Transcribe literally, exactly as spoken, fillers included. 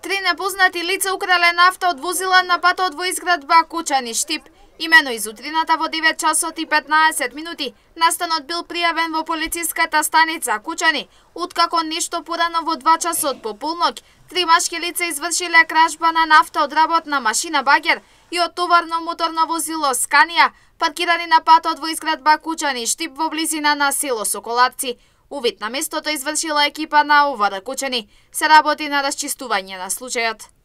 Три непознати лица украле нафта од возила на патот во изградба Кучани, Штип. Имено изутрината во девет часот и петнаесет минути настанот бил пријавен во полициската станица Кучани, откако нешто порано во два часот по полноќ три машки лица извршиле кражба на нафта од работна машина Багер и од товарно моторно возило Сканија, паркирани на патот во изградба Кучани, Штип во близина на село Соколапци. Увид на местото извршила екипа на ОВР Кучани. Се работи на расчистување на случајот.